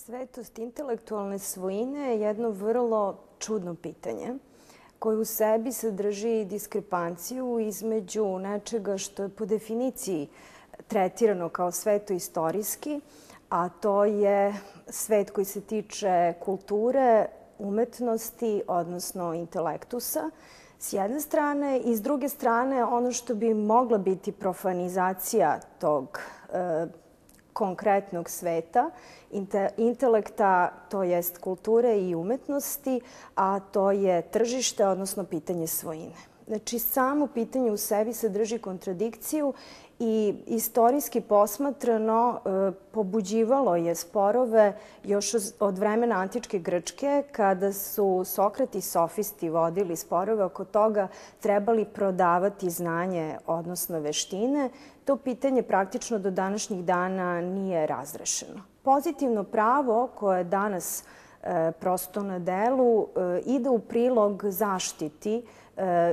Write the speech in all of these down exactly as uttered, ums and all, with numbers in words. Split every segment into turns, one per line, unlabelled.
Svetost intelektualne svojine je jedno vrlo čudno pitanje koje u sebi sadrži diskrepanciju između nečega što je po definiciji tretirano kao sveto istorijski, a to je svet koji se tiče kulture, umetnosti, odnosno intelektusa, s jedne strane, i s druge strane ono što bi mogla biti profanizacija tog e, konkretnog sveta, intelekta, to jest kulture i umetnosti, a to je tržište, odnosno pitanje svojine. Znači, samo pitanje u sebi sadrži kontradikciju i istorijski posmatrano pobuđivalo je sporove još od vremena antičke Grčke, kada su Sokrat i sofisti vodili sporove oko toga trebali prodavati znanje, odnosno veštine. To pitanje praktično do današnjih dana nije razrešeno. Pozitivno pravo koje je danas prosto na delu ide u prilog zaštiti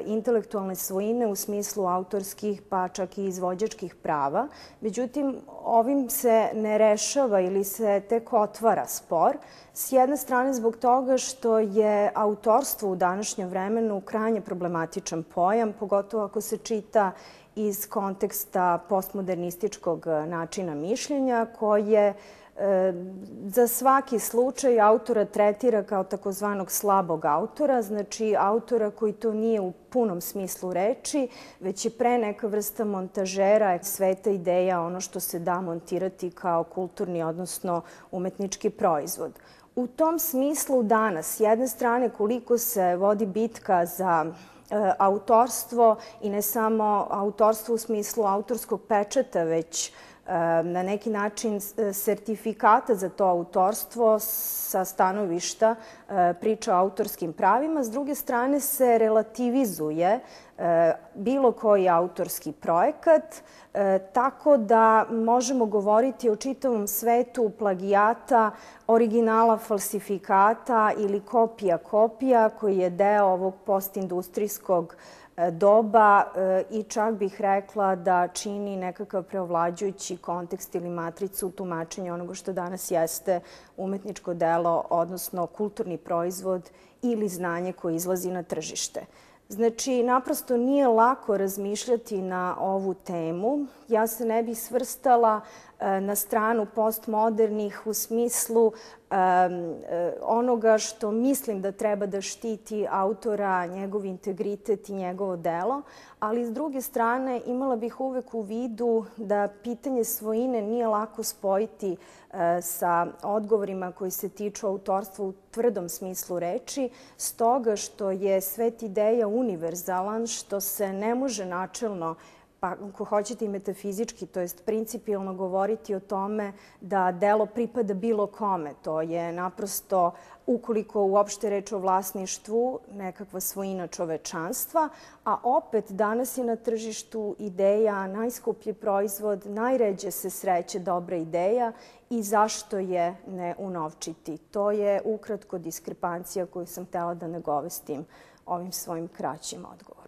intelektualne svojine u smislu autorskih, pa čak i izvođačkih prava. Međutim, ovim se ne rešava ili se tek otvara spor. S jedne strane zbog toga što je autorstvo u današnjem vremenu krajnje problematičan pojam, pogotovo ako se čita iz konteksta postmodernističkog načina mišljenja koje za svaki slučaj autora tretira kao takozvanog slabog autora, znači autora koji to nije u punom smislu reči, već je pre neka vrsta montažera sveta ideja, ono što se da montirati kao kulturni, odnosno umetnički proizvod. U tom smislu danas, s jedne strane, koliko se vodi bitka za autorstvo i ne samo autorstvo u smislu autorskog pečata, već na neki način sertifikata za to autorstvo sa stanovišta priča o autorskim pravima. S druge strane se relativizuje bilo koji autorski projekat, tako da možemo govoriti o čitavom svetu plagijata, originala, falsifikata ili kopija kopija koji je deo ovog postindustrijskog doba i čak bih rekla da čini nekakav preovlađujući kontekst ili matricu tumačenja onoga što danas jeste umetničko delo, odnosno kulturni proizvod ili znanje koje izlazi na tržište. Znači, naprosto nije lako razmišljati na ovu temu. Ja se ne bih svrstala na stranu postmodernih u smislu onoga što mislim da treba da štiti autora, njegov integritet i njegovo delo, ali s druge strane imala bih uvek u vidu da pitanje svojine nije lako spojiti sa odgovorima koji se tiču autorstva u tvrdom smislu reči, stoga što je svet ideja univerzalan, što se ne može načelno, pa ako hoćete i metafizički, to jest principijelno govoriti o tome da delo pripada bilo kome. To je naprosto, ukoliko uopšte reč o vlasništvu, nekakva svojina čovečanstva, a opet danas je na tržištu ideja najskuplji proizvod, najređe se sreće dobra ideja i zašto je ne unovčiti. To je ukratko diskrepancija koju sam htela da nagovestim ovim svojim kraćim odgovorom.